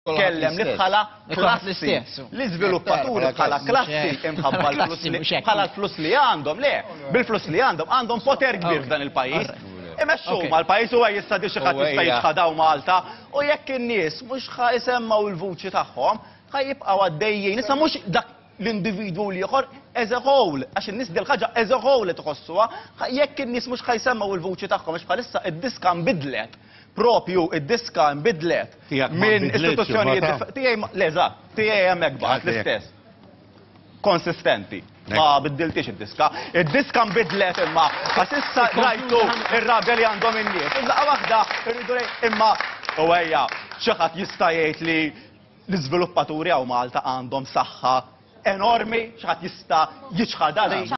Kellem li bħala klassi, l-iżviluppaturi bħala klassi imħabba l-flus li bħala l-flus li għandhom, le, bil-flus li għandhom għandhom poter kbir f'dan il-pajjiż. Imexxu mal-pajjiż u jista' di xi ħadd jista' jiċħadaw Malta u jekk in-nies mhux ħa jsemmaw il-vuċi tagħhom, ħa jibqgħu għaddejjin. Issa mhux dak l-individwu u l-ieħor as a whole, għax in-nies dil-ħaġa as a whole li tħossuha, jekk in-nies mhux ħa jsemmgħu l-vuċi tagħhom għax bħalissa id-diska nbidlet, propju id-diska nbidlet minn istituzzjonijiet tiegħi le eżatt, tiegħi hemmhekk baqgħet l-istess. Konsistenti. Ma biddiltix id-diska. Id-diska nbidlet imma għax issa rajtu ir-rabja li għandhom in-nies. Laqgħa waħda rridu imma u ejja xi ħadd jista' jgħid li L-iżviluppaturi hawn Malta għandhom saħħa enormi, xi ħadd jista' jiċħadha din?